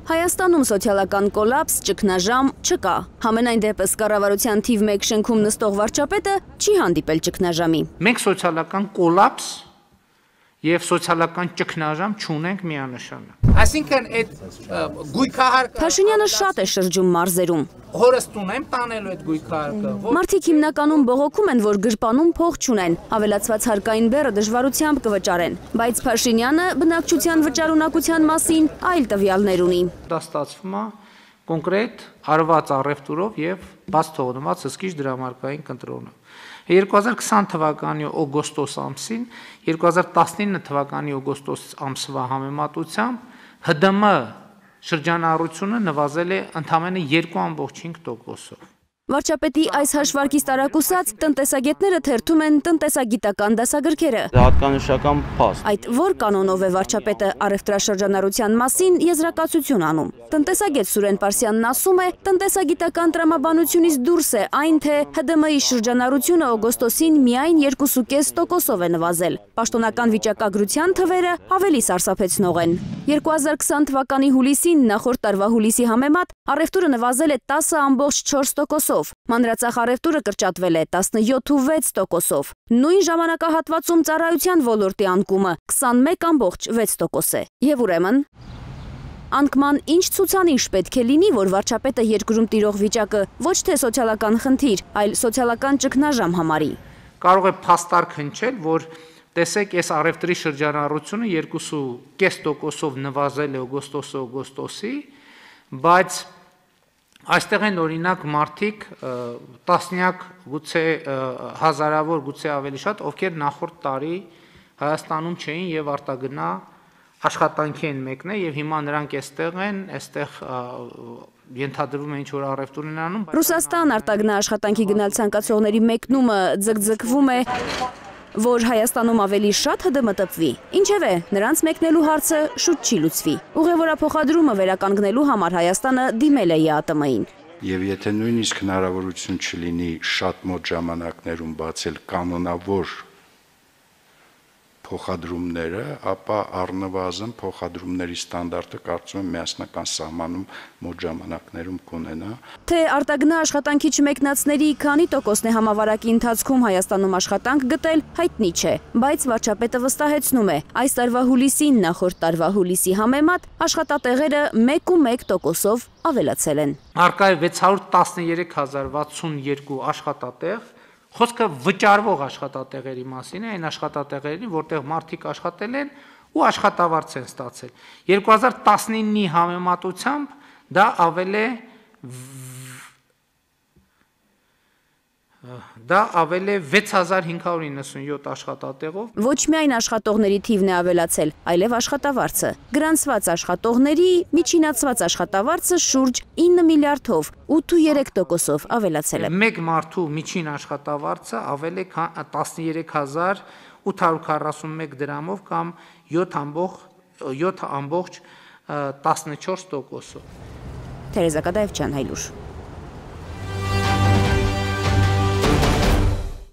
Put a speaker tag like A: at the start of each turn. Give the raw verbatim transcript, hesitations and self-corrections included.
A: Հայաստանում սոցիալական կոլապս, ճգնաժամ չկա։ Համենայն դեպս կառավարության թիվ մեկ շենքում նստող վարչապետը չի հանդիպել ճգնաժամի։
B: Մենք սոցիալական կոլապս եւ սոցիալական ճգնաժամ չունենք միանշանակ։ Այսինքն այդ գույքահարկը
A: Փաշինյանը շատ է շրջում մարզերում։
B: Հորս տունեմ տանելու այդ գույքահարկը։
A: Մարդիկ հիմնականում բողոքում են, որ գրպանում փող չունեն, ավելացված հարկային բեռը դժվարությամբ կվճարեն, բայց Փաշինյանը բնակչության վճարունակության մասին այլ տվյալներ ունի։
B: Դա ստացվում է կոնկրետ արված առևտուրով եւ բաց թողնված հսկիչ դրամարկային կենտրոնը։ երկու հազար քսան թվականի օգոստոս ամսին, երկու հազար տասնինը թվականի օգոստոս ամսվա համեմատությամբ Հ D M շրջանառությունը նվազել է ընդամենը երկու ամբողջ հինգ տոկոսով։
A: Վարչապետի այս հաշվարկից տարակուսած տնտեսագետները թերթում են տնտեսագիտական դասագրքերը։
C: Հատկանշական փաստ։
A: Այդ որ կանոնով է վարչապետը առևտրաշրջանառության մասին եզրակացություն անում։ Տնտեսագետ Սուրեն Պարսյանն ասում է, տնտեսագիտական տրամաբանությունից դուրս է այն, թե Հ D M-ի շրջանառությունը օգոստոսին միայն երկու կես տոկոսով է նվազել։ Պաշտոնական վիճակագրության թվերը ավելի սարսափեցնող են։ երկու հազար քսան թվականի հուլիսին նախորդ տարվա հուլիսի համեմատ առևտուրը նվազել է տասը ամբողջ չորս տոկոսով, մանրածախ առևտուրը կրճատվել է տասնյոթ ու վեց տոկոսով, նույն ժամանակահատվածում ծառայության ոլորտի անկումը քսանմեկ ամբողջ վեց տոկոս է։ Եվ ուրեմն անկման ինչ ցուցանիշ պետք է լինի, որ վարչապետը երկրում տիրող վիճակը ոչ թե սոցիալական խնդիր, այլ սոցիալական ճգնաժամ համարի։
B: Կարող է փաստարկ հնչել, որ տեսեք, այս առևտրի շրջանառությունը երկու կես տոկոսով նվազել է օգոստոսը օգոստոսի, բայց այստեղ են օրինակ մարդիկ տասնյակ գուցե հազարավոր գուցե ավելի շատ, ովքեր նախորդ տարի Հայաստանում չէին եւ արտագնա աշխատանքի են մեկնել եւ հիմա նրանք այստեղ են, այստեղ ենթադրվում է ինչ որ առևտուր են անում։
A: Ռուսաստան արտագնա աշխատանքի գնալ ցանկացողների մեկնումը ձգձգվում է, որ Հայաստանում ավելի շատ Հ D M տպվի։ Ինչևէ, նրանց մեկնելու հարցը շուտ չի լուծվի։ Ուղևորափոխադրումը վերականգնելու համար Հայաստանը դիմել է Ե A T M-ին։
D: Եվ եթե նույնիսկ հնարավորություն չլինի շատ մոտ ժամանակներում բացել կանոնավոր փոխադրումները, ապա առնվազն փոխադրումների ստանդարտը կարծում եմ միասնական սահմանում մոտ ժամանակներում կունենա։
A: Թե արտագնա աշխատանքի չմեկնածների քանի տոկոսն է համավարակի ընթացքում Հայաստանում աշխատանք գտել, հայտնի չէ, բայց վարչապետը վստահեցնում է, այս տարվա հուլիսին նախորդ տարվա հուլիսի համեմատ աշխատատեղերը մեկ ու մեկ տոկոսով ավելացել են։
B: Արկա է վեց հարյուր տասներեք հազար վաթսունյոթ աշխատատեղ, խոսքը վճարվող աշխատատեղերի մասին է, այն աշխատատեղերին, որտեղ մարդիկ աշխատել են ու աշխատավարձ են ստացել։ երկու հազար տասնինի համեմատությամբ դա ավել է դա ավել է վեց հազար հինգ հարյուր իննսունյոթ աշխատատեղով։
A: Ոչ միայն աշխատողների թիվն է ավելացել, այլև աշխատավարձը։ Գրանցված աշխատողների միջինացված աշխատավարձը շուրջ ինը միլիարդով ութ ու երեք տոկոսով ավելացել է։
B: Մեկ մարդու միջին աշխատավարձը ավել է տասներեք հազար ութ հարյուր քառասունմեկ դրամով կամ յոթ ամբողջ տասնչորս տոկոսով։
A: Թերեզա Կադաևչյան, Հայլուր։